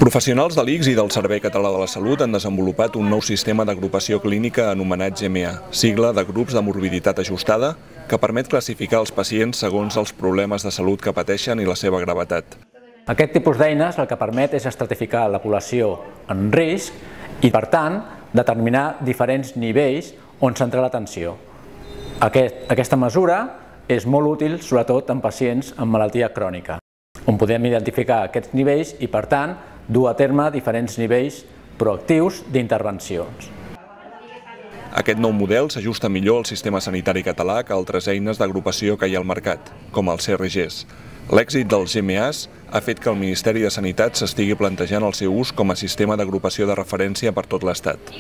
Professionals de l'ICS i del Servei Català de la Salut han desenvolupat un nou sistema d'agrupació clínica anomenat GMA, sigla de grups de morbiditat ajustada, que permet classificar els pacients segons els problemes de salut que pateixen i la seva gravetat. Aquest tipus d'eines el que permet és estratificar la població en risc i, per tant, determinar diferents nivells on centrar l'atenció. Aquesta mesura és molt útil, sobretot en pacients amb malaltia crònica, on podem identificar aquests nivells i, per tant, dur a terme diferents nivells proactius d'intervencions. Aquest nou model s'ajusta millor al sistema sanitari català que altres eines d'agrupació que hi ha al mercat, com els CRGs. L'èxit dels GMAs ha fet que el Ministeri de Sanitat s'estigui plantejant el seu ús com a sistema d'agrupació de referència per tot l'Estat.